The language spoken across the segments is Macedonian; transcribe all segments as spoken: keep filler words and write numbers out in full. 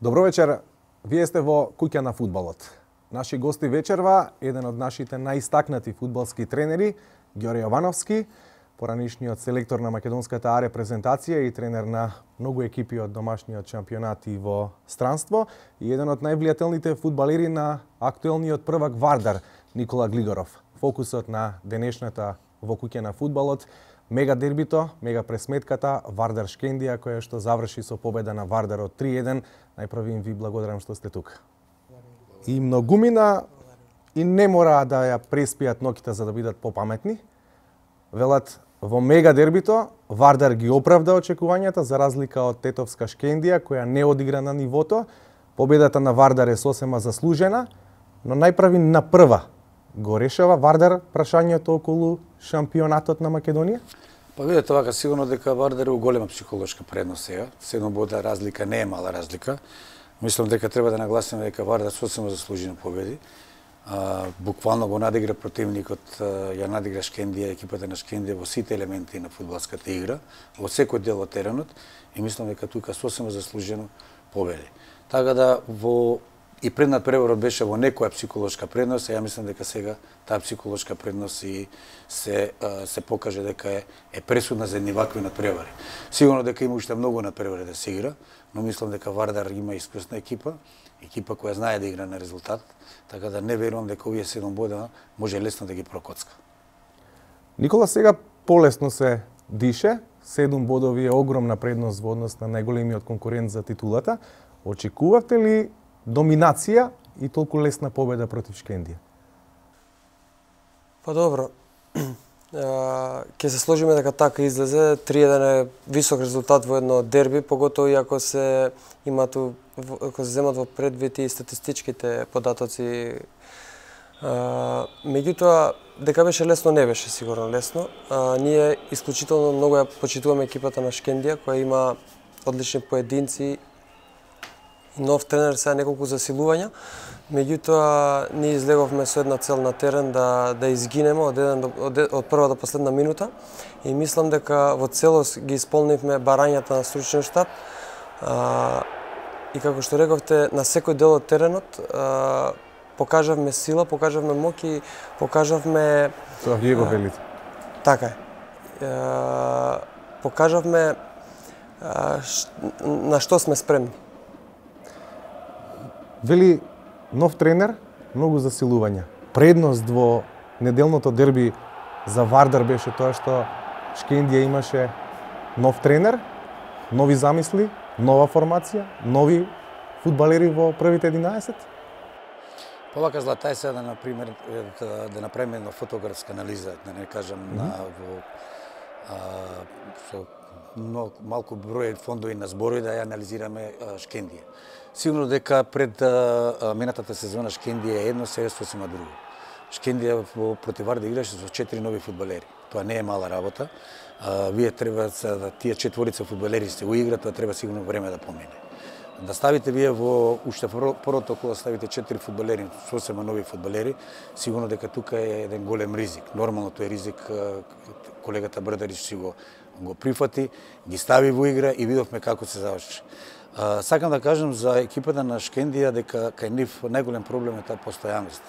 Добро вечер, вие сте во Куќа на фудбалот. Наши гости вечерва, еден од нашите најистакнати фудбалски тренери, Ѓоре Јовановски, поранишниот селектор на македонската А репрезентација и тренер на многу екипи од домашниот шампионат и во странство, и еден од највлијателните фудбалери на актуелниот првак Вардар, Никола Глигоров. Фокусот на денешната во Куќа на фудбалот, мега дербито, мега пресметката Вардар Шкендија, која што заврши со победа на Вардар од три еден. Најпрви им ви благодарам што сте тука. И многумина и не мора да ја преспијат ноќта за да бидат попаметни. Велат, во мега дербито Вардар ги оправда очекувањата за разлика од тетовска Шкендија која не одигра на нивото. Победата на Вардар е сосема заслужена, но најправи на прва го решава Вардар прашањето околу шампионатот на Македонија? Па видете вака, сигурно дека Вардар е у голема психолошка предност сега. Седум бода разлика не е мала разлика. Мислам дека треба да нагласиме дека Вардар сосема заслужено победи. А, буквално го надигра противникот, ја надигра Шкендија, екипата на Шкендија во сите елементи на фудбалската игра, во секој дел од теренот, и мислам дека тука сосема заслужено победи. Така да во и преднат преворот беше во некоја психолошка предност, а ја мислам дека сега таа психолошка предност и се се покаже дека е, е пресудна за едни вакви надпревари. Сигурно дека има уште многу надпревари да се игра, но мислам дека Вардар има искусна екипа, екипа која знае да игра на резултат, така да не верувам дека овие седум бода може лесно да ги прокоцка. Никола, сега полесно се дише, седум бодови е огромна предност во однос на најголемиот конкурент за титулата. Очекувавте ли доминација и толку лесна победа против Шкендија? Па добро, ќе се сложиме дека така излезе. три еден е висок резултат во едно дерби, поготово и ако се имат, ако се земат во предвид и статистичките податоци. Меѓутоа, дека беше лесно, не беше сигурно лесно. А, ние исклучително многу ја почитуваме екипата на Шкендија, која има одлични поединци, нов тренер, сега неколку засилувања. Меѓутоа, ние излеговме со една цел на терен да да изгинеме од еден од, од прва до последна минута и мислам дека во целост ги исполнивме барањата на стручен штаб. А, и како што рековте, на секој дел од теренот а, покажавме сила, покажавме моќ и покажавме Тоа вие го велите. Така е. А, покажавме а, ш, на што сме спремни. Вели нов тренер, многу засилувања. Предност во неделното дерби за Вардар беше тоа што Шкендија имаше нов тренер, нови замисли, нова формација, нови фудбалери во првите единаесет. Повака злата е сега да, например, да, да направиме една фотографска анализа, да не кажам, mm -hmm. на во а, со но, малку број фондови на зборови да ја анализираме а, Шкендија. Сигурно дека пред а, минатата сезона Шкендија е едно, сега сосема друго. Шкендија во против Вардар играше со четири нови фудбалери. Тоа не е мала работа. А, вие треба да тие четворица фудбалери се уиграат, тоа треба сигурно време да помине. Да ставите вие во уште првото кога ставите четири фудбалери, сосема нови фудбалери, сигурно дека тука е еден голем ризик. Нормално тој ризик колегата Брдарич си го го прифати, ги стави во игра и видовме како се заврши. Uh, сакам да кажам за екипата на Шкендија дека кај нив најголем проблем е таа постојаност.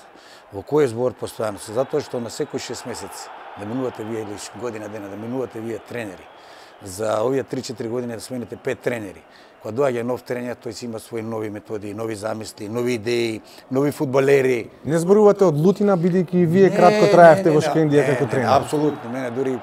Во кој збор постојаност? Затоа што на секој шест месеци да минувате вие или година дена да минувате вие тренери. За овие три-четири години да смените пет тренери. Кога доаѓа нов тренер, тој си има своји нови методи, нови замисли, нови идеи, нови фудбалери. Не зборувате од лутина, бидејќи и вие не, кратко траевте во Шкендија како тренер. Не, апсолутно. Мене дури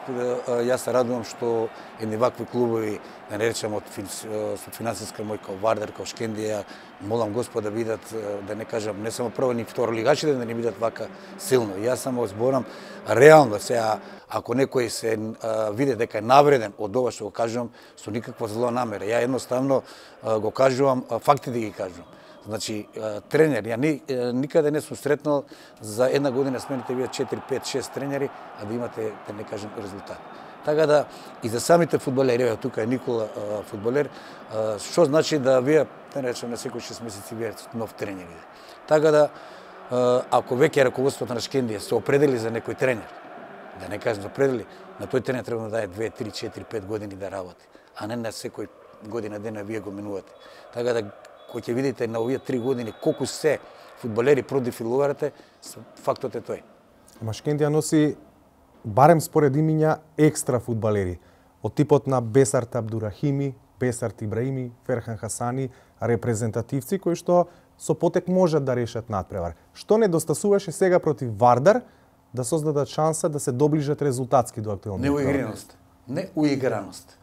јас се радувам што едни вакви клубови, да не речем од со финансиска мој као Вардар, као Шкендија, молам Господ да бидат, да не кажам, не само прво ни второ лигачите, да не бидат вака силно. Јас само зборам реално сега, ако некој се а, види дека е навреден од ова што го кажувам, со никаква зла намера. Ја едноставно а, го кажувам, а, факти да ги кажувам. Значи, а, тренер, ја ни, а, никаде не сум сретнал за една година смените вие четири, пет, шест тренери, а да имате, да не кажем, резултат. Така да, и за самите фудбалери, еве тука е Никола а, фудбалер, а, што значи да вие, да речем, на секој шест месеци вие нов тренер. Така да, а, ако веќе раководството на Шкендија се определи за некој тренер, да не кажем определи, на тој тренер треба да даде две, три, четири, пет години да работи, а не на секој година дена вие го минувате. Така да, кој ќе видите на овие три години колку се фудбалери продефилувате, фактот е тој. Ама Шкендија носи, барем според имиња, екстра фудбалери. Од типот на Бесарт Абдурахими, Бесарт Ибраими, Ферхан Хасани, репрезентативци кои што со потек можат да решат надпревар. Што недостасуваше сега против Вардар да создадат шанса да се доближат резултатски до актуелниот? Неуиграност. Неуиграност.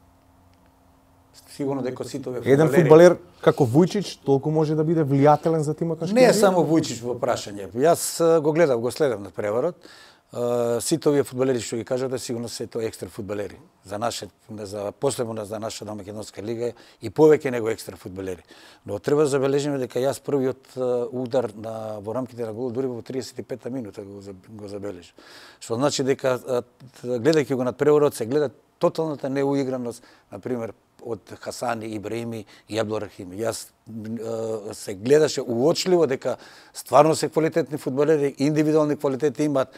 Сигурно дека сите овие Еден фудбалер како Вујчич толку може да биде влијателен за тимот на Шкендија? Не е само Вујчич во прашање. Јас го гледав, го следам на преварот. Сите овие фудбалери што ги кажате, сигурно се тоа екстра фудбалери. За наше, за последно за нашата македонска лига и повеќе него екстра фудбалери. Но треба да забележиме дека јас првиот удар на во рамките на гол дури во триесет и пета минута го, го забележав. Што значи дека гледајќи го надпреварот се гледа тоталната неуиграност, на пример од Хасани, Ибраими и Абдурахими. Јас е, се гледаше уочливо дека стварно се квалитетни фудбалери, индивидуални квалитети имаат, е,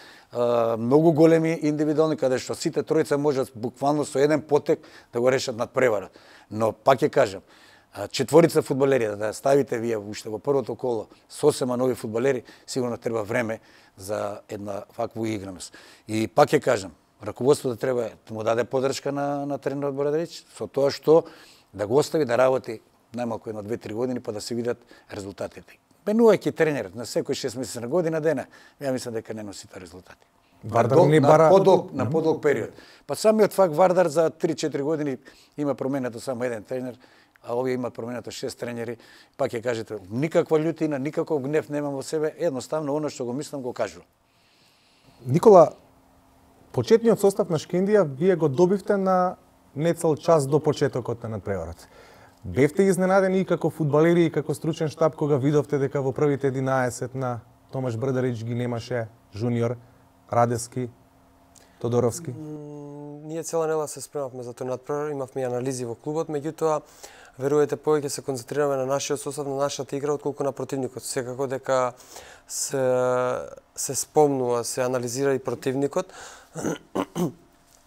многу големи индивидуални, каде што сите тројца можат буквално со еден потек да го решат надпреварот. Но пак ќе кажам, четворица фудбалери да ставите вие уште во првото коло со осем нови фудбалери, сигурно треба време за една ваква играност. И пак ќе кажам, раководството треба да му даде поддршка на, на тренерот Борадевич, со тоа што да го остави да работи најмалку едно две-три години, па да се видат резултатите. Менувајќи тренерот на секој шест месеци на година дена, ја мислам дека не носи тоа резултати. Вардар не бара... На подолг, на подолг период. Па самиот факт Вардар за три-четири години има променето само еден тренер, а овие има променето шест тренери. Пак ќе кажете, никаква љутина, никаков гнев немам во себе, едноставно оно што го мислам го кажувам. Никола, почетниот состав на Шкендија вие го добивте на нецел час до почетокот на надпреварот. Бевте изненадени и како фудбалери и како стручен штаб кога видовте дека во првите единаесет на Томаш Брдарич ги немаше Жуниор, Радевски, Тодоровски? Ние цела недела се спремавме за тој надпревар, имавме анализи во клубот, меѓутоа верувате повеќе се концентрираме на нашиот состав, на нашата игра отколку на противникот. Секако дека се се спомнува, се анализира и противникот.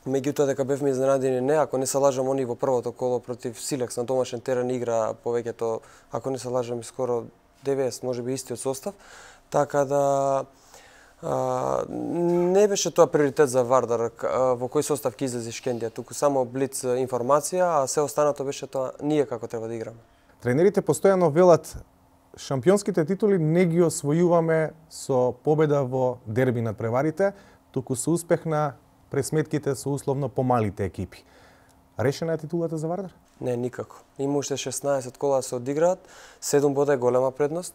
Меѓутоа дека бевме изненадени не, ако не се лажам, они во првото коло против Силекс на домашен терен игра повеќето, ако не се лажам, и скоро деветдесет, можеби истиот состав, така да а, не беше тоа приоритет за Вардар во кој состав ќе излезе Шкендија, туку само блиц информација, а се останато беше тоа ние како треба да играме. Тренерите постојано велат шампионските титули не ги освојуваме со победа во дерби на преварите, туку со успех на пресметките со условно помалите екипи. Решена е титулата за Вардар? Не, никако. Има уште шеснаесет кола да се одиграат, седум бода е голема предност.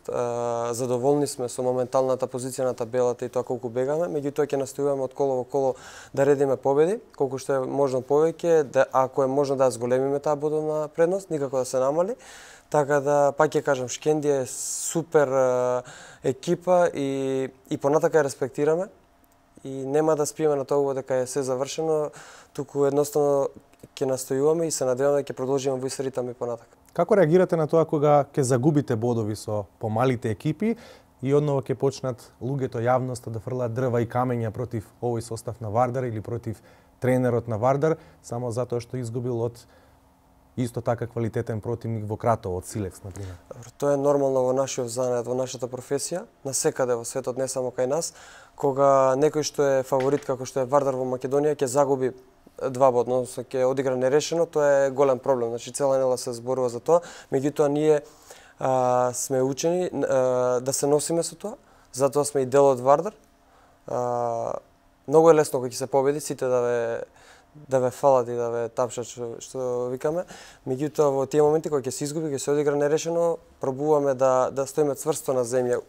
Задоволни сме со моменталната позиција на табелата и тоа колку бегаме, меѓутоа ќе настојуваме од коло во коло да редиме победи, колку што е можно повеќе, да, ако е можно да зголемиме таа бодовна предност, никако да се намали. Така да, пак ќе кажам, Шкендија е супер екипа и, и понатака ја респектираме. И нема да спиеме на тоа дека е се завршено, туку едноставно ќе настојуваме и се надеваме дека ќе продолжиме во ист ритам и понатака. Како реагирате на тоа кога ќе загубите бодови со помалите екипи и одново ќе почнат луѓето, јавноста да фрлаат дрва и камења против овој состав на Вардар или против тренерот на Вардар, само затоа што изгубил од исто така квалитетен противник во Кратово, од Силекс, например? Тоа е нормално во нашиот занат, во нашата професија, насекаде во светот, не само кај нас, кога некој што е фаворит како што е Вардар во Македонија ќе загуби два бода, односно ќе одигра нерешено, тоа е голем проблем. Значи цела недела се зборува за тоа, меѓутоа ние а, сме учени а, да се носиме со тоа, затоа сме и дел од Вардар. А, многу е лесно кога ќе се победи, сите да ве да ве фалат и да ве тапшат што, што викаме. Меѓутоа во тие моменти кога ќе се изгуби, ќе се одигра нерешено, пробуваме да да стоиме цврсто на земја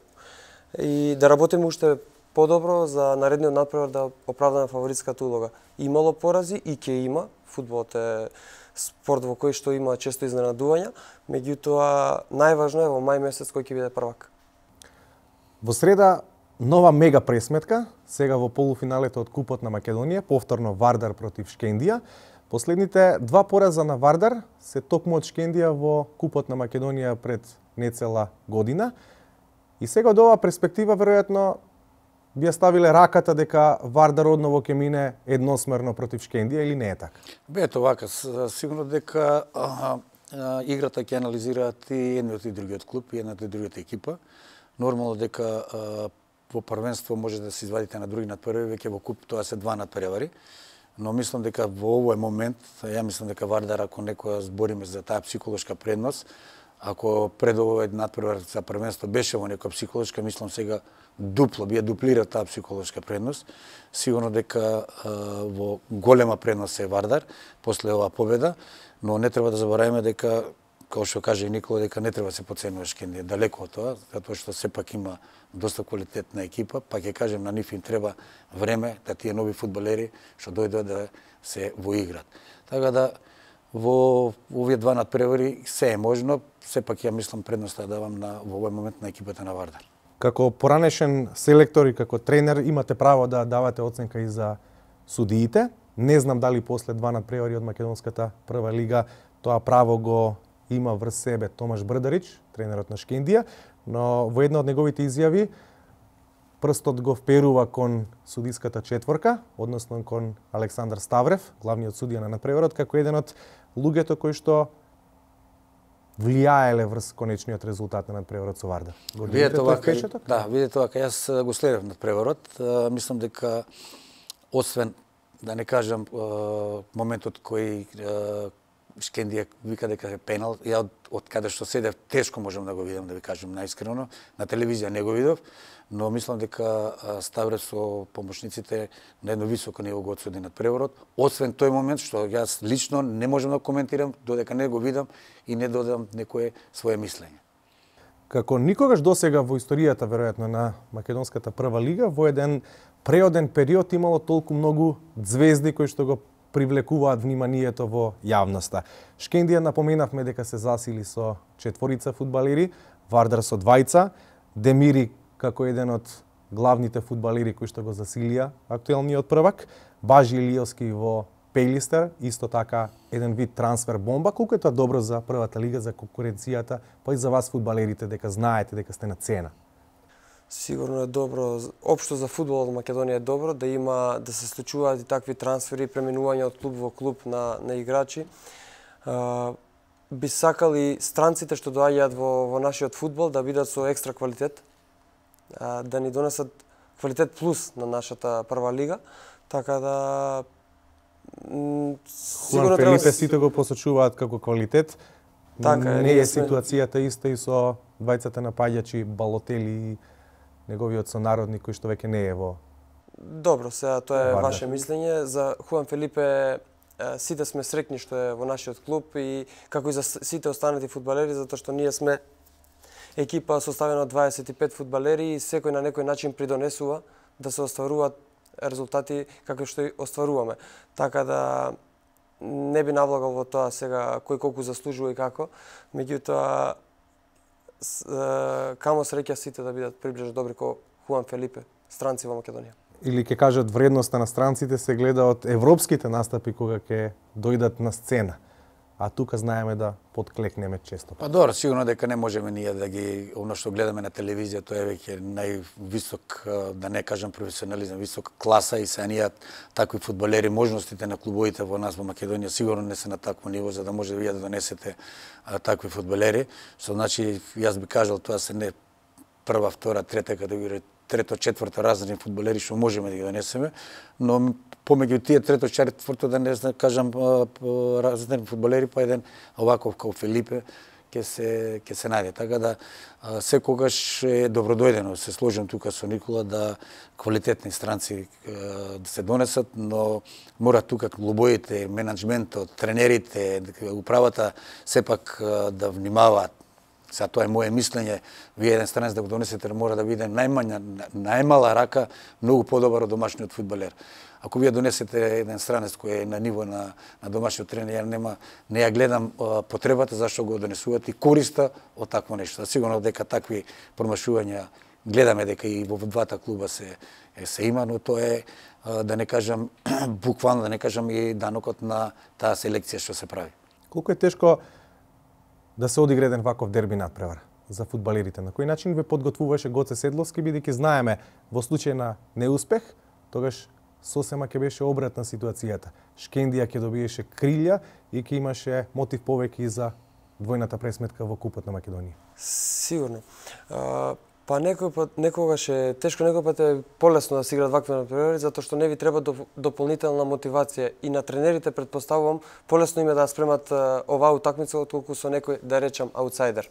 и да работиме уште подобро за наредниот надпревар да оправдаме фаворитската улога. Имало порази и ќе има. Фудбалот е спорт во кој што има често изненадувања, меѓутоа најважно е во мај месец кој ќе биде првак. Во среда нова мега пресметка, сега во полуфиналето од Купот на Македонија, повторно Вардар против Шкендија. Последните два пораза на Вардар се токму од Шкендија во Купот на Македонија пред нецела година. И сега од оваа перспектива веројатно би ја ставиле раката дека Вардар одново ќе мине едносмерно против Шкендија или не е така? Бе, ето вака, сигурно дека а, играта ќе анализираат и едниот и другиот клуб, и едната и другата екипа. Нормално дека во првенство може да се извадите на други надпревари, веќе во куп тоа се два надпревари. Но мислам дека во овој момент, ја мислам дека Вардар, ако некоја збориме за таа психолошка предност, ако пред овој надпревар за првенство беше во некоја психолошка, мислам сега дупло, би ја дуплира таа психолошка предност. Сигурно дека а, во голема предност е Вардар после оваа победа, но не треба да забораваме дека, како што каже и Никола, дека не треба да се потценува Шкендија, далеко од тоа, затоа што сепак има доста квалитетна екипа, па ќе кажем на нив им треба време да тие нови фудбалери што дојдат да се воиграт. Така да во овие два надпревари се е можно, сепак ја мислам предноста да давам на во овој момент на екипата на Вардар. Како поранешен селектор и како тренер имате право да давате оценка и за судиите. Не знам дали после два надпревари од македонската прва лига тоа право го има врз себе Томаш Брдарич, тренерот на Шкендија, но во една од неговите изјави прстот го вперува кон судиската четворка, односно кон Александар Ставрев, главниот судија на надпреварот, како еден од луѓето кои што влијаеле врз конечниот резултат на надпреварот со Вардар. Видете вака, да, видете вака, јас го следев надпреварот, мислам дека освен да не кажам моментот кој Шкендија вика дека е пенал, ја од, од каде што седев тешко можам да го видам, да ви кажам наискрено, на телевизија не го видов, но мислам дека Ставрев со помошниците на едно високо ниво го одсуди надпреварот, освен тој момент што јас лично не можам да коментирам додека не го видам и не додам некое свое мислење. Како никогаш досега во историјата веројатно на македонската прва лига, во еден преоден период имало толку многу звезди кои што го привлекуваат вниманието во јавноста. Шкендија напоменавме дека се засили со четворица фудбалери, Вардар со двајца, Демири како еден од главните фудбалери кои што го засилија актуелниот првак, Бажи Илиовски во Пејлистер, исто така еден вид трансфер бомба, колку е тоа добро за првата лига, за конкуренцијата, па и за вас фудбалерите дека знаете дека сте на цена. Сигурно е добро, општо за фудбалот во Македонија е добро да има да се случуваат и такви трансфери, преминување од клуб во клуб на на играчи. А, би сакали странците што доаѓаат во во нашиот фудбал да бидат со екстра квалитет, а, да ни донесат квалитет плюс на нашата прва лига, така да Хуан Фелипе сите го посочуваат како квалитет. Така е, не е сме... ситуацијата иста и со двајцата напаѓачи Балотели и неговиот сонародник кој што веќе не е во. Добро, сега тоа е Вардар. Ваше мислење. За Хуан Фелипе сите сме среќни што е во нашиот клуб и како и за сите останати фудбалери, затоа што ние сме екипа составена од дваесет и пет фудбалери и секој на некој начин придонесува да се остваруваат резултати како што и остваруваме. Така да не би навлагал во тоа сега кој колку заслужува и како, меѓутоа камо среќа сите да бидат приближно добри како Хуан Фелипе, странци во Македонија. Или ќе кажат вредноста на странците се гледа од европските настапи кога ќе дојдат на сцена. А тука знаеме да подклекнеме често. Па добро, сигурно дека не можеме ние да ги оно што гледаме на телевизија, тоа е веќе највисок, да не кажам професионализам, висока класа и се ние такви фудбалери, можностите на клубовите во нас во Македонија сигурно не се на такво ниво за да може вие да донесете а, такви фудбалери. Што значи јас би кажал тоа се не прва, втора, трета категорија, трето, четврто разредни фудбалери што можеме да ги донесеме, но помеѓу тие трето, четврто да не знам кажам разредни фудбалери, па еден оваков како Фелипе ќе се ќе се најде. Така да секогаш е добродојдено, се сложам тука со Никола да квалитетни странци да се донесат, но мора тука клубовите, менаџментот, тренерите, управата сепак да внимаваат. Сега тоа е моје мислење, вие еден странец да го донесете мора да биде најмања, најмала рака, многу подобар од домашниот фудбалер. Ако вие донесете еден странец кој е на ниво на, на домашниот тренер, ја нема, не ја гледам а, потребата зашто го донесувате и користа од такво нешто. Сигурно дека такви промашувања гледаме дека и во двата клуба се, се има, но тоа е, а, да не кажам, буквално да не кажам и данокот на таа селекција што се прави. Колку е тешко да се одигра еден ваков дерби надпревар за фудбалерите? На кој начин ве подготвуваше Гоце Седловски, бидејќи знаеме во случај на неуспех, тогаш сосема ќе беше обратна ситуацијата. Шкендија ќе добиеше крилја и ќе имаше мотив повеќе и за двојната пресметка во Купот на Македонија? Сигурно. А, па некој пат, некогаш е тешко, некој пат е полесно да се играат вакви надпревари, затоа што не ви треба дополнителна мотивација и на тренерите претпоставувам полесно име да спремат оваа утакмица отколку со некој, да речам, аутсайдер.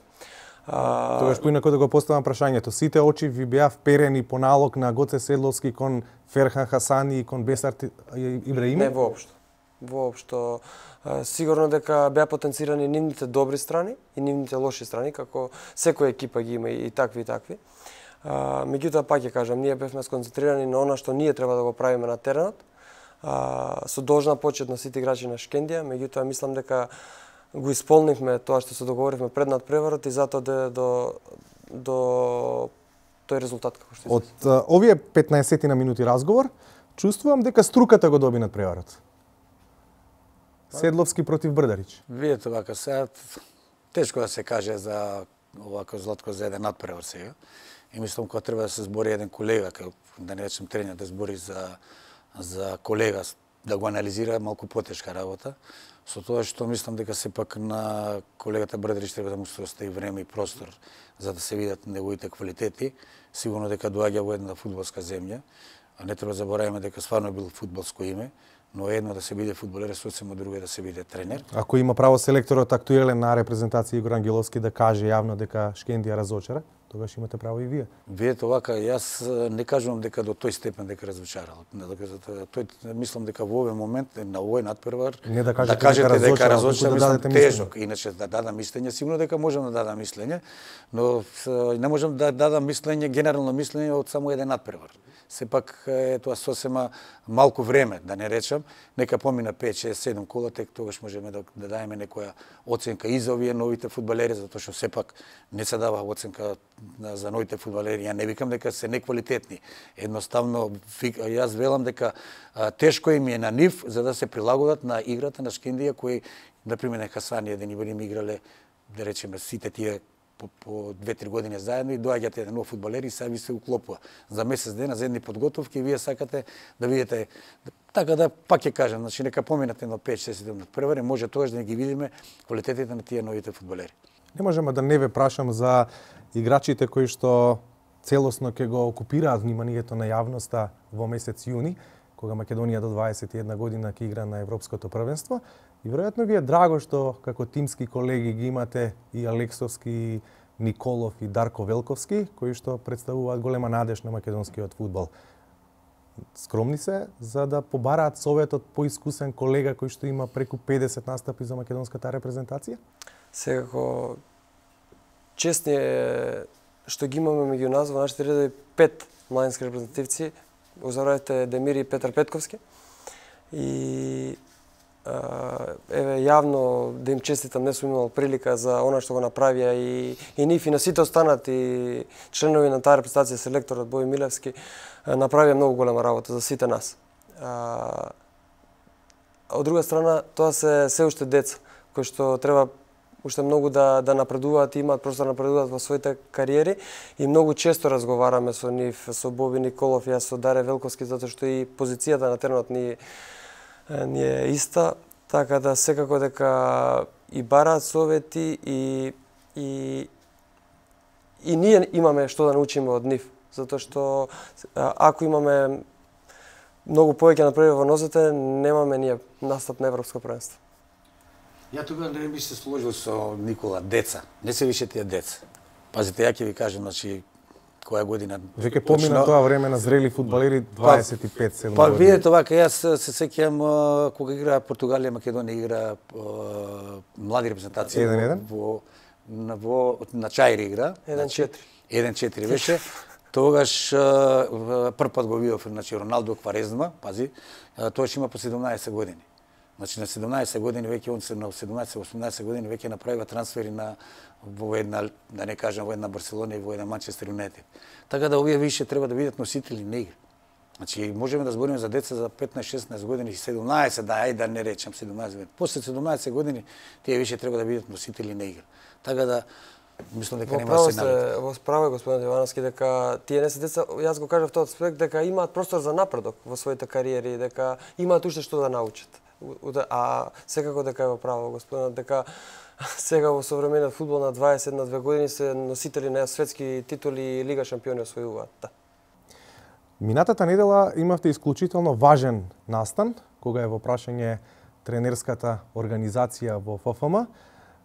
А... Тогаш поинако да го поставам прашањето. Сите очи ви беа вперени по налог на Гоце Седловски кон Ферхан Хасани и кон Бесар Ибраими? Не воопшто. Воопшто. Сигурно дека беа потенцирани нивните добри страни и нивните лоши страни, како секоја екипа ги има и такви и такви. А, меѓутоа, пак ќе кажам, ние бевме сконцентрирани на она што ние треба да го правиме на теренот, а, со должна почет на сите играчи на Шкендија, меѓутоа мислам дека го исполнивме тоа што се договоривме пред надпреварот и затоа до, до, до тој резултат како што Од uh, овие петнаесет на минути разговор, чувствувам дека струката го доби надпреварот. Седловски против Брдарич. Видете вака сега, тешко да се каже за овако Златко за еден надпревар сега. И мислам кога треба да се збори еден колега, кај, да не речем тренер, да збори за, за колега, да го анализира малку потешка работа. Со тоа што мислам дека сепак на колегата Брдарич треба да му се остави време и простор за да се видат неговите квалитети. Сигурно дека доаѓа во една фудбалска земја, а не треба да забораваме дека стварно е бил фудбалско име, но едно да се биде фудбалер, сосема друго е да се биде тренер. Ако има право селекторот актуелен на репрезентација Игор Ангеловски да каже јавно дека Шкендија разочара, тогаш имате право и вие. Видете овака, јас не кажувам дека до тој степен дека разочарал. Тој мислам дека во овој момент на овој надпревар не да кажете, да кажете дека, дека разочара, да мислам тежок. Иначе да дадам мислење, сигурно дека можам да дадам мислење, но не можам да дадам мислење, генерално мислење од само еден надпревар. Сепак е тоа сосема малку време, да не речам, нека помина пет, шест, седум кола, тек тогаш можеме да, да даеме некоја оценка и за овие новите фудбалери, затоа што сепак не се дава оценка за новите фудбалери. Ја не викам дека се неквалитетни. Едноставно, јас велам дека а, тешко им е на нив за да се прилагодат на играта на Шкендија, кои, например, Хасани еден Ибрим играле, да речеме, сите тие по, по две-три години заедно и доаѓате еден нов фудбалер и сега ви се уклопува. За месец дена, за едни подготовки, вие сакате да видите. Така да, пак ќе кажам, значи нека поминате на пет шест седум надпревари, може тогаш да ги видиме квалитетите на тие новите фудбалери. Не можеме да не ве прашам за играчите кои што целосно ќе го окупираат вниманието на јавноста во месец јуни, кога Македонија до дваесет и една година ќе игра на Европското првенство. И веројатно ви е драго што како тимски колеги ги имате и Алексовски, Николов и Дарко Велковски, кои што представуваат голема надеж на македонскиот фудбал. Скромни се за да побараат советот поискусен колега кој што има преку педесет настапи за македонската репрезентација? Секако честни е што ги имаме меѓу нас во нашите редови пет младински репрезентативци. Озаравте Демир и Петар Петковски. И еве јавно да им честитам, не сум имал прилика за она што го направија и, и нив и на сите останати членови на таа репрезентација, селекторот Бој Милевски, направија многу голема работа за сите нас. А, од друга страна, тоа се се уште деца, кои што треба уште многу да, да напредуваат и имаат простор да напредуваат во своите кариери и многу често разговараме со нив, со Боби Николов, јас со Даре Велковски, затоа што и позицијата на теренот ни ни е иста, така да секако дека и бараат совети и и и ние имаме што да научиме од нив, затоа што ако имаме многу повеќе напредување во нозете, немаме ние настап на Европско првенство. Ја тога не би се сложил со Никола, деца. Не се више тие деца. Пазите, ја ќе ви кажам, значи, која година... Веќе помина тоа време на зрели фудбалери дваесет и пет седум Па, години. видите вака, јас се сеќавам кога игра Португалија, Македонија игра млади репрезентации. еден-еден? Во, на, во, на Чаири игра. еден четири. еден четири беше. Тогаш прв пат го видов, значи, Роналдо Кварезма, пази, тогаш има по седумнаесет години. Значи на седумнаесет години веќе он се на седумнаесет-осумнаесет години веќе направива трансфери на во една, да не кажам, во една Барселона и во една Манчестер Юнайтед. Така да овие више треба да бидат носители на игра. Значи можеме да збориме за деца за петнаесет-шеснаесет години, седумнаесет, да ајде да не речам седумнаесет години. После седумнаесет години тие више треба да бидат носители на игра. Така да мислам дека нема да се налета. Во справа е господин Ивановски дека тие не се деца, јас го кажав тоа аспект дека имаат простор за напредок во своите кариери, дека имаат уште што да научат. А секако дека е во право господинот дека Сега во современиот фудбал на дваесет на две години се носители на светски титули и Лига шампиони освојуваат. Да. Минатата недела имавте исклучително важен настан, кога е во прашање тренерската организација во Ф Ф М.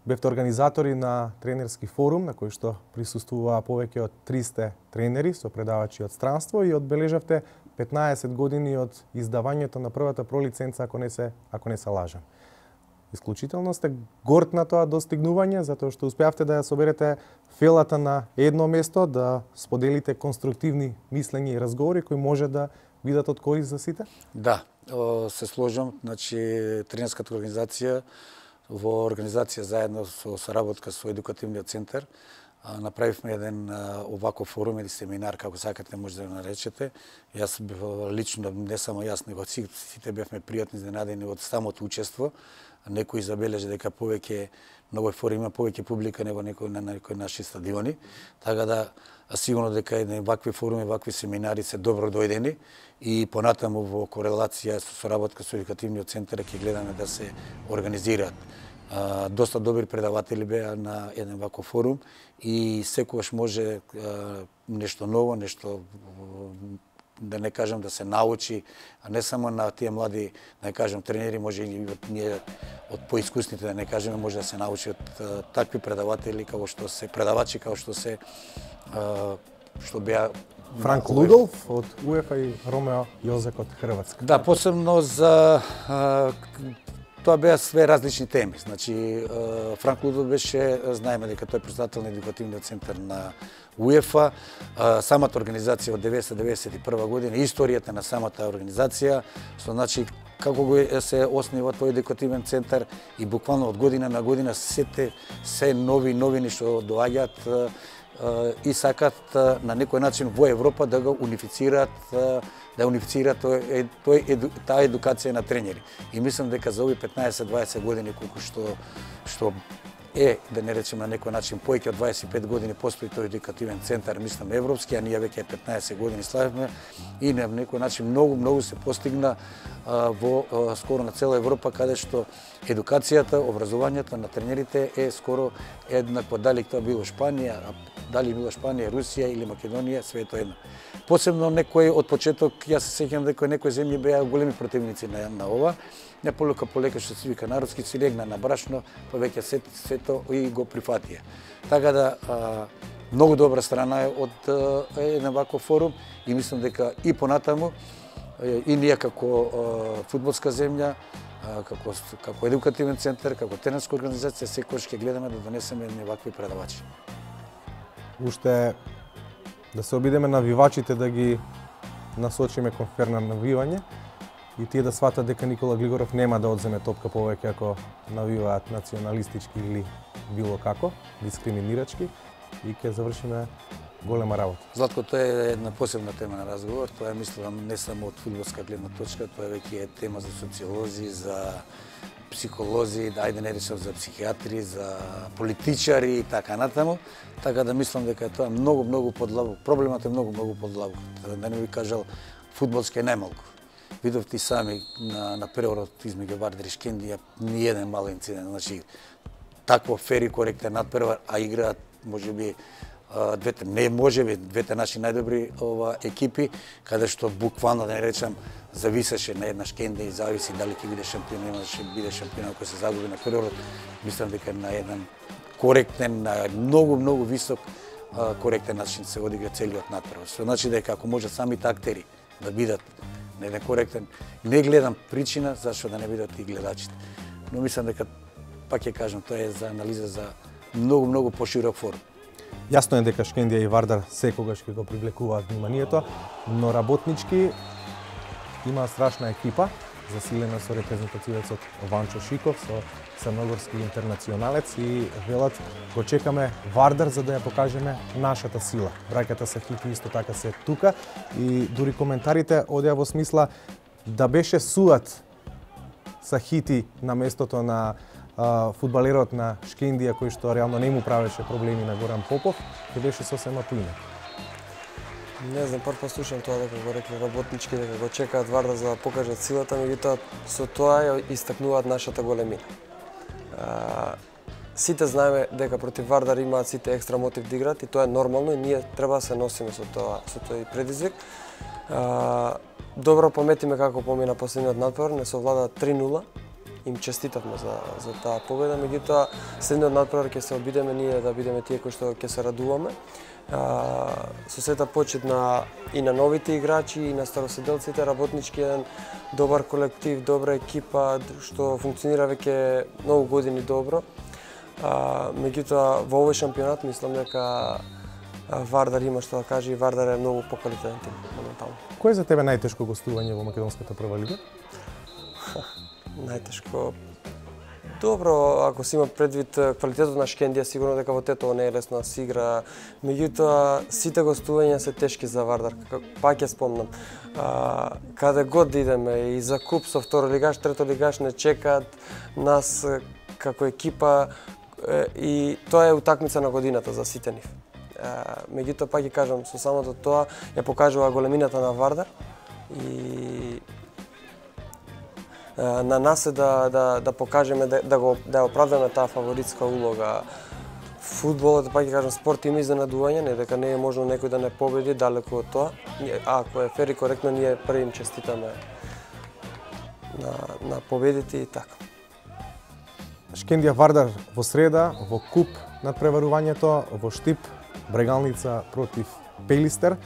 Бевте организатори на тренерски форум на кој што присуствуваа повеќе од триста тренери со предавачи од странство и одбележавте петнаесет години од издавањето на првата пролиценца, ако не се ако не се лажам. Исклучително сте горд на тоа достигнување, затоа што успеавте да ја соберете фелата на едно место, да споделите конструктивни мислења и разговори кои може да бидат од корист за сите? Да, се сложам. Значи, тренерската организација во организација заедно со соработка со едукативниот центар направивме еден оваков форум или семинар, како сакате може да го наречете. Јас лично, не само јас, него сите бевме пријатно изненадени од самото учество. Некој забележи дека повеќе на овој форум има повеќе публика него некој на некои наши стадиони. Така да сигурно дека едни вакви форуми, вакви семинари се добро дојдени и понатаму во корелација со соработка со едукативниот центар ќе гледаме да се организираат. А, доста добри предаватели беа на еден ваков форум и секогаш може а, нешто ново, нешто да не кажам да се научи, а не само на тие млади, да не кажам тренери, може и ние од поискусните, да не кажеме, може да се научи од а, такви предаватели како што се предавачи како што се а, што беа Франк Лудолф од УЕФА и Ромео Јозек од Хрватска. Да, посебно за а, тоа беа све различни теми. Значи, Франк Лудолф беше, знаеме дека тој е председател на едукативниот центар на УЕФА, самата организација од деветстотини деветдесет и прва година, историјата на самата организација, со значи како го се основа тој едукативен центар и буквално од година на година сите се нови новини што доаѓаат и сакат на некој начин во Европа да го унифицираат, да унифицираат тој, тој, таа едукација на тренери. И мислам дека за овие петнаесет дваесет години колку што што е, да не речем на некој начин, повеќе од дваесет и пет години постои тој едукативен центар, мислам европски, а ние веќе петнаесет години славивме и на некој начин многу многу се постигна а, во а, скоро на цела Европа, каде што едукацијата, образованието на тренерите е скоро еднакво, дали тоа било Шпанија, дали било Шпанија, Русија или Македонија, све е тоа едно. Посебно некои од почеток, јас се сеќавам дека некои земји беа големи противници на, на ова, не полека полека што се вика народски си легна на брашно, па веќе се, сето и го прифатија. Така да а, многу добра страна е од еден ваков форум и мислам дека и понатаму и ние како а, фудбалска земја, а, како како едукативен центар, како тренерска организација секогаш ќе гледаме да донесеме едни вакви предавачи. Уште да се обидеме навивачите да ги насочиме кон ферно навивање и тие да сватат дека Никола Глигоров нема да одземе топка повеќе ако навиваат националистички или било како, дискриминирачки и ќе завршиме голема работа. Златко, тоа е една посебна тема на разговор, тоа е мислам не само од фудбалска гледна точка, тоа е веќе тема за социолози, за психолози, да ајде не речам за психиатри, за политичари и така натаму, така да мислам дека тоа е многу многу подлабок. Проблемот е многу многу подлабок. Да не ви кажал, фудбалски е најмалку. Видовте сами на на преворот измеѓу Вардар и Шкендија ни еден мал инцидент, значи такво фери коректен надпревар, а играат можеби двете не можеби двете наши најдобри ова екипи, каде што буквално да не речам зависеше на една Шкендија и зависи дали ќе биде шампион, нема да ќе биде шампион ако се загуби на преворот. Мислам дека на еден коректен, на многу многу висок коректен начин се одигра целиот надпревар. Што значи дека ако може самите актери да бидат на еден коректен, не гледам причина зашто да не бидат и гледачите. Но мислам дека, пак ќе кажам, тоа е за анализа за многу многу поширок форум. Јасно е дека Шкендија и Вардар секогаш ќе го привлекуваат вниманието, но работнички има страшна екипа, засилена со репрезентативецот Ванчо Шиков, со црногорски интернационалец и велат го чекаме Вардар за да ја покажеме нашата сила. Браќата Сахити исто така се тука и дури коментарите одеа во смисла да беше суат Сахити на местото на а, фудбалерот на Шкендија кој што реално не му правеше проблеми на Горан Попов, ќе беше сосема поинак. Не знам, прв послушам тоа дека го рекли работнички, дека го чекаат Вардар за да покажат силата, меѓутоа со тоа ја истакнуваат нашата големина. А, сите знаеме дека против Вардар имаат сите екстра мотив да играат и тоа е нормално и ние треба да се носиме со тоа, со тој предизвик. А, добро паметиме како помина последниот надпревар, не совлада три нула. Им честитавме за за таа победа, меѓутоа следниот надпревар ќе се обидеме ние да бидеме тие кои што ќе се радуваме. А, со сета почит на и на новите играчи и на староседелците, работнички еден добар колектив, добра екипа што функционира веќе многу години добро. А, меѓутоа во овој шампионат мислам дека Вардар има што да каже и Вардар е многу поквалитетен тим моментално. Кој е за тебе најтешко гостување во македонската прва лига? Најтешко. Добро, ако се има предвид квалитетот на Шкендија, сигурно дека во Тетово не е лесно да се игра. Меѓутоа, сите гостувања се тешки за Вардар. Пак ќе спомнам. А, каде год да идеме и за куп со второ лигаш, трето лигаш не чекаат нас како екипа и тоа е утакмица на годината за сите нив. Меѓутоа, пак ќе кажам, со самото тоа ја покажува големината на Вардар и на нас е да да да покажеме да, да го да оправдаме таа фаворитска улога. Фудбалот, пак ќе кажам, спорт има изненадување, не дека не е можно некој да не победи, далеку од тоа. А ако е фер и коректно, ние први им честитаме на на победите и така. Шкендија Вардар во среда во куп надпреварувањето, во Штип Брегалница против Пелистер.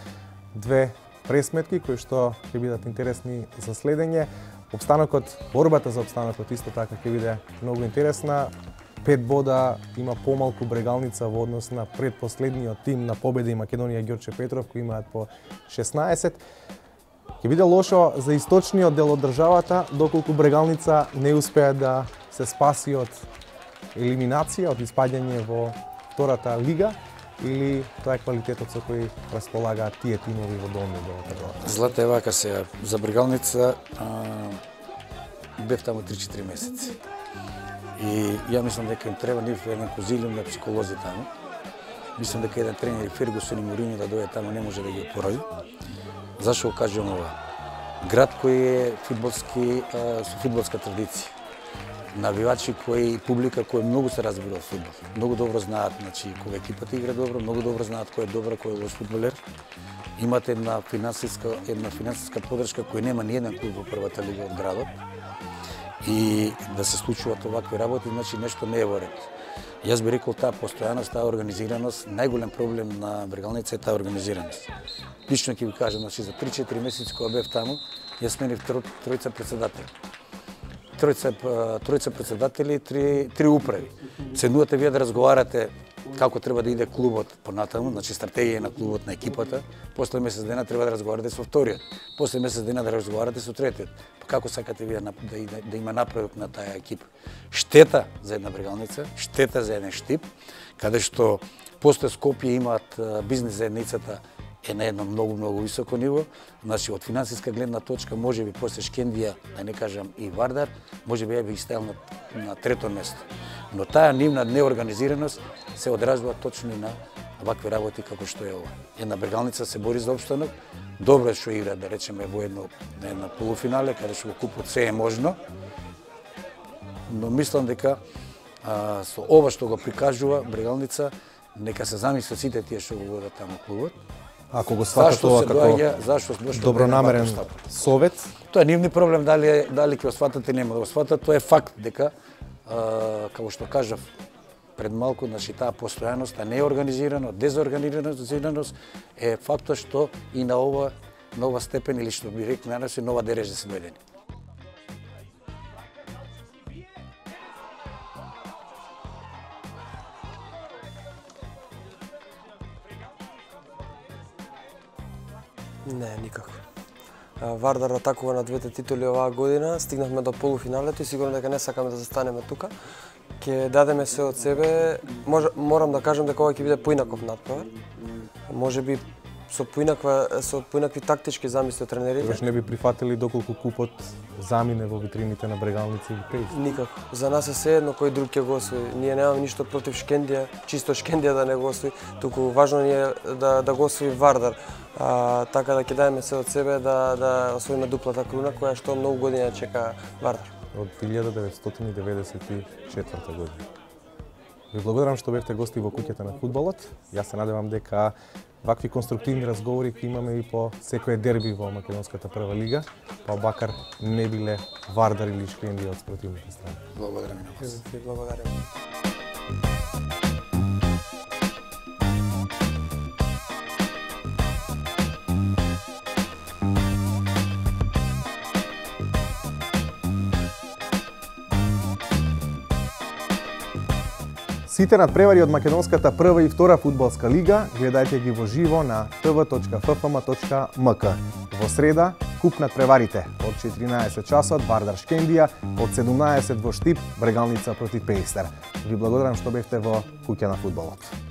Две пресметки кои што ќе бидат интересни за следење. Обстанокот, борбата за обстанокот исто така ќе биде многу интересна. Пет бода има помалку Брегалница во однос на предпоследниот тим на Победа и Македонија Ѓорче Петров кои имаат по шеснаесет. Ќе биде лошо за источниот дел од државата доколку Брегалница не успее да се спаси од елиминација, од испаѓање во втората лига, или тоа е квалитетот со кој располагаат тие тимови во долниот дел од државата? Злата е вака сега, за Брегалница бев таму три-четири месеци. И ја мислам дека им треба нив еден конзилиум на психолози таму. Мислам дека еден тренер Фергусон и Моринјо да дојде таму не може да ги опоради. Зашо го кажувам ова? Град кој е фудбалски, со фудбалска традиција. Навивачи кои публика кој многу се разбира од фудбал. Многу добро знаат, значи кога екипата игра добро, многу добро знаат кој е добар, кој е лош фудбалер. Имате една финансиска една финансиска поддршка која нема ни еден клуб во првата лига од градот. И да се случуваат овакви работи, значи нешто не е во ред. Јас би рекол таа постојаност, таа организираност, најголем проблем на Брегалница е таа организираност. Лично ќе ви кажам, значи за три-четири месеци кога бев таму, јас сменив тројца председатели. Тројца тројца председатели и три три управи. Ценувате вие да разговарате како треба да иде клубот понатаму, значи стратегија на клубот, на екипата. После месец дена треба да разговарате со вториот. После месец дена да разговарате со третиот. Па како сакате вие да, да, да има напредок на таа екипа? Штета за една Брегалница, штета за еден Штип, каде што после Скопје имаат бизнес заедницата е на едно многу многу високо ниво. Значи од финансиска гледна точка можеби после Шкендија, да не кажам и Вардар, можеби ја би ги ставил на, на трето место. Но таа нивна неорганизираност се одразува точно и на вакви работи како што е ова. Една Брегалница се бори за опстанок, добро е што игра, да речеме, во едно на една полуфинале, каде што во купот се е можно. Но мислам дека а, со ова што го прикажува Брегалница, нека се замисли сите тие што го водат таму клубот. Ако го сватат ова како доаѓа, зашто добронамерен совет, тоа е нивни проблем, дали дали ќе го сватат или нема да го сватат, тоа е факт дека а, како што кажав пред малку, значи таа постојаност, таа неорганизираност, дезорганизираност е фактот што и на ова на ова степен или што би рекли на нас е нова дережа се дојдени. Не, никако. Вардар атакува на двете титули оваа година, стигнавме до полуфиналето и сигурно дека не сакаме да застанеме тука. Ќе дадеме се од себе. Мож, морам да кажам дека ова ќе биде поинаков надпревар. Можеби со поинаква со поинакви тактички замисли од тренерите. Тогаш не би прифатили доколку купот замине во витрините на Брегалница или Пелистер. Никако. За нас е сеедно кој друг ќе го освои. Ние немаме ништо против Шкендија, чисто Шкендија да не го освои, туку важно ни е да да го освои Вардар. А, така да ќе дадеме се од себе да да освоиме дуплата круна која што многу години чека Вардар. Од илјада деветстотини деветдесет и четврта година. Ви благодарам што бевте гости во куќата на фудбалот. Јас се надевам дека вакви конструктивни разговори ќе имаме и по секое дерби во македонската прва лига, па бакар не биле Вардар или Шкендија од спротивните страни. Благодарам на вас. Ви благодарам. Сите надпревари од македонската прва и втора фудбалска лига гледајте ги во живо на т в точка ф ф м точка м к. Во среда куп надпреварите од четиринаесет часот Вардар Шкендија, од седумнаесет во Штип Брегалница против Пеистер. Ви благодарам што бевте во куќа на фудбалот.